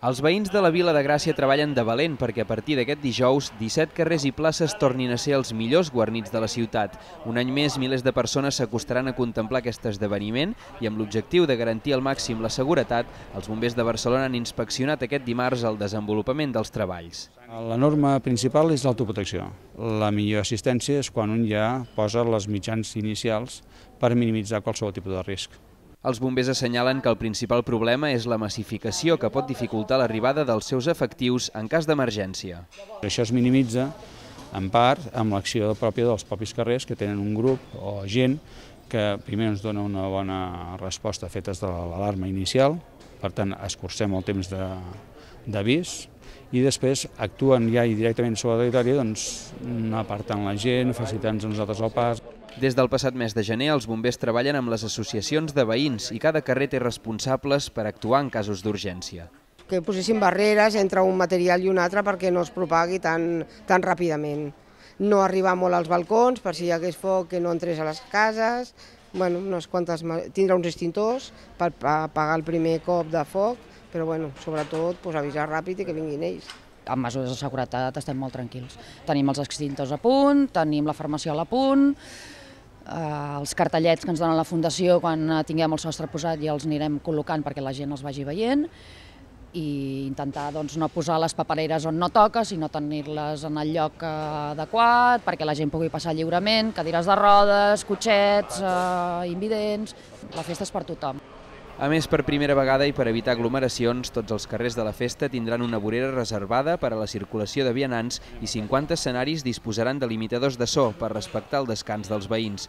Els veïns de la Vila de Gràcia treballen de valent perquè a partir d'aquest dijous 17 carrers i places tornin a ser els millors guarnits de la ciutat. Un any més, milers de persones s'acostaran a contemplar aquest esdeveniment i amb l'objectiu de garantir al màxim la seguretat, els bombers de Barcelona han inspeccionat aquest dimarts el desenvolupament dels treballs. La norma principal és l'autoprotecció. La millor assistència és quan un ja posa les mitjans inicials per minimitzar qualsevol tipus de risc. Els bombers assenyalen que el principal problema és la massificació que pot dificultar l'arribada dels seus efectius en cas d'emergència. Això es minimitza, en part, amb l'acció pròpia dels propis carrers que tenen un grup o gent que primer ens dona una bona resposta fetes de l'alarma inicial, per tant escurcem el temps d'avís i després actuen ja directament sobre el territori apartant la gent, facilitant-nos a nosaltres el pas. Des del passat mes de gener, els bombers treballen amb les associacions de veïns i cada carrer té responsables per actuar en casos d'urgència. Que posessin barreres entre un material i un altre perquè no es propagui tan ràpidament. No arribar molt als balcons per si hi hagués foc que no entrés a les cases, tindre uns extintors per apagar el primer cop de foc, però sobretot avisar ràpid i que vinguin ells. Amb mesures de seguretat estem molt tranquils. Tenim els extintors a punt, tenim la farmaciola a punt, els cartellets que ens donen la Fundació quan tinguem el sostre posat ja els anirem col·locant perquè la gent els vagi veient i intentar no posar les papereres on no toca, sinó tenir-les en el lloc adequat perquè la gent pugui passar lliurement, cadires de rodes, cotxets, invidents. La festa és per tothom. A més, per primera vegada i per evitar aglomeracions, tots els carrers de la festa tindran una vorera reservada per a la circulació de vianants i 50 escenaris disposaran de limitadors de so per respectar el descans dels veïns.